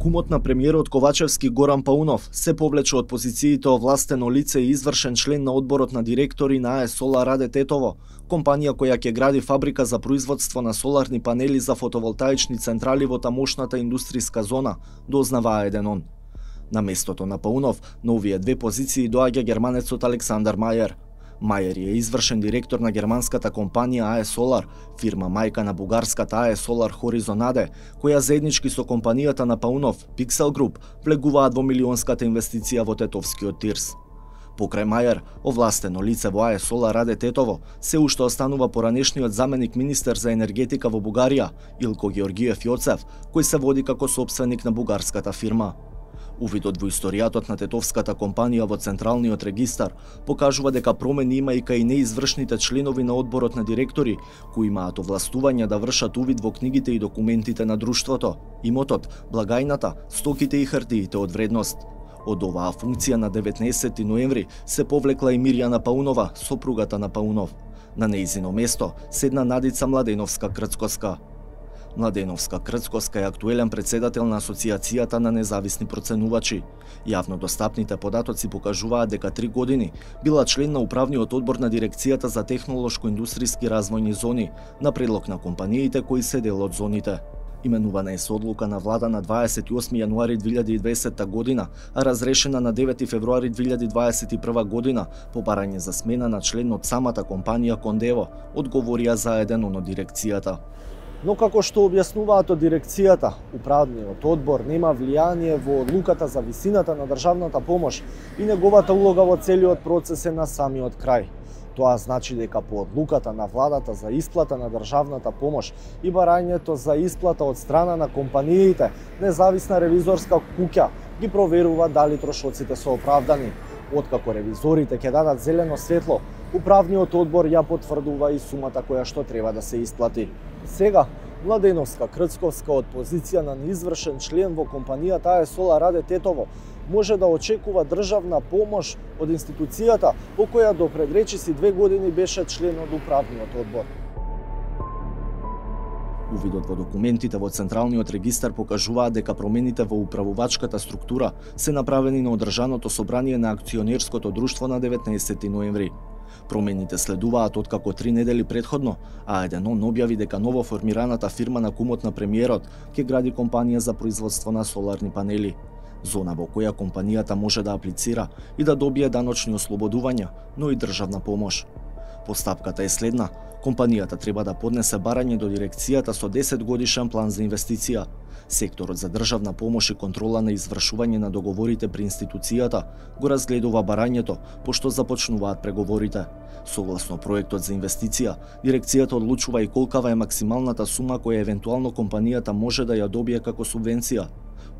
Кумот на премиерот Ковачевски Горан Паунов се повлече од позициите овластено лице и извршен член на одборот на директори на АЕС Солар Раде Тетово, компанија која ќе гради фабрика за производство на соларни панели за фотоволтаични централи во тамошната индустријска зона, дознава А1. На местото на Паунов на овие две позиции доаѓа германецот Александар Мајер. Мајер е извршен директор на германската компанија АЕС Солар, фирма мајка на бугарската АЕС Солар Хоризон АД, која заеднички со компанијата на Паунов, Pixel Group, влегуваат во милионската инвестиција во тетовскиот Тирс. Покрај Мајер, овластено лице во АЕС Солар Раде Тетово, се уште останува поранешниот заменик министер за енергетика во Бугарија, Илко Георгиев Јоцев, кој се води како сопственик на бугарската фирма. Увидот во историјатот на тетовската компанија во Централниот регистар покажува дека промени има и кај неизвршните членови на одборот на директори, кои имаат овластување да вршат увид во книгите и документите на друштвото, имотот, благајната, стоките и хартиите од вредност. Од оваа функција на 19 ноември се повлекла и Мирјана Паунова, сопругата на Паунов. На нејзино место седна Надица Младеновска-Крцкоска. Младеновска-Крцкоска е актуелен председател на Асоциацијата на независни проценувачи. Јавно достапните податоци покажуваат дека 3 години била член на управниот одбор на дирекцијата за технолошко-индустријски развојни зони, на предлог на компаниите кои се дел од зоните. Именувана е со одлука на влада на 28 јануари 2020 година, а разрешена на 9 февруари 2021 година по барање за смена на член од самата компанија Кондево, одговорија за еден од дирекцијата. Но како што објаснуваат од дирекцијата, управниот одбор нема влијание во одлуката за висината на државната помош и неговата улога во целиот процес е на самиот крај. Тоа значи дека по одлуката на владата за исплата на државната помош и барањето за исплата од страна на компаниите, независна ревизорска куќа ги проверува дали трошоците се оправдани. Откако ревизорите ќе дадат зелено светло, управниот одбор ја потврдува и сумата која што треба да се исплати. Сега, Младеновска-Крцковска од позиција на неизвршен член во компанијата АЕС Солар Раде Тетово може да очекува државна помош од институцијата по која до пред речиси 2 години беше член од управниот одбор. Увидот во документите во Централниот регистар покажуваат дека промените во управувачката структура се направени на одржаното собрание на акционерското друштво на 19 ноември. Промените следуваат откако 3 недели предходно, а А1 објави дека ново формираната фирма на кумот на премиерот ќе гради компанија за производство на соларни панели. Зона во која компанијата може да аплицира и да добие даночни ослободувања, но и државна помош. Постапката е следна. Компанијата треба да поднесе барање до дирекцијата со 10 годишен план за инвестиција. Секторот за државна помош и контрола на извршување на договорите при институцијата го разгледува барањето, пошто започнуваат преговорите. Согласно проектот за инвестиција, дирекцијата одлучува и колкава е максималната сума која евентуално компанијата може да ја добие како субвенција.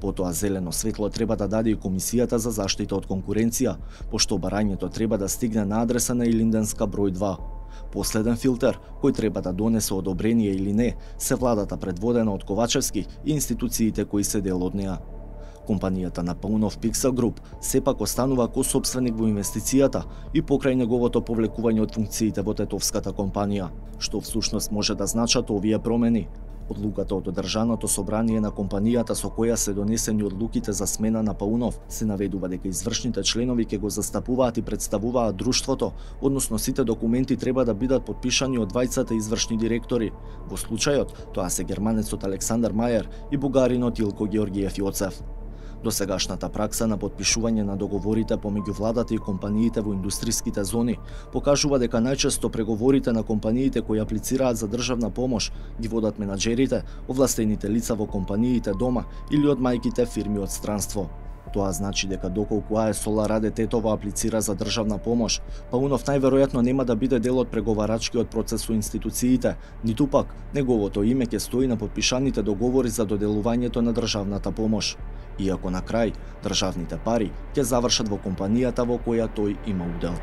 Потоа зелено светло треба да даде и Комисијата за заштита од конкуренција, пошто барањето треба да стигне на адреса на Илинденска број 2. Последен филтер, кој треба да донесе одобрение или не, се владата предводена од Ковачевски и институциите кои се дел од неа. Компанијата на Паунов Pixel Group сепак останува косопственик во инвестицијата и покрај неговото повлекување од функциите во тетовската компанија, што всушност може да значат овие промени. Одлуката од одржаното собрание на компанијата со која се донесени одлуките за смена на Паунов се наведува дека извршните членови ќе го застапуваат и представуваат друштвото, односно сите документи треба да бидат подпишани од двајцата извршни директори. Во случајот, тоа се германецот Александар Мајер и бугаринот Илко Георгиев Јоцев. Досегашната пракса на подпишување на договорите помеѓу владата и компаниите во индустријските зони покажува дека најчесто преговорите на компаниите кои аплицираат за државна помош ги водат менаџерите, овластените лица во компаниите дома или од мајките фирми од странство. Тоа значи дека доколку АЕС Солар Раде Тетово аплицира за државна помош, Паунов најверојатно нема да биде дел од преговарачкиот процес со институциите, ниту пак неговото име ќе стои на подпишаните договори за доделувањето на државната помош. Иако на крај, државните пари ќе завршат во компанијата во која тој има удел.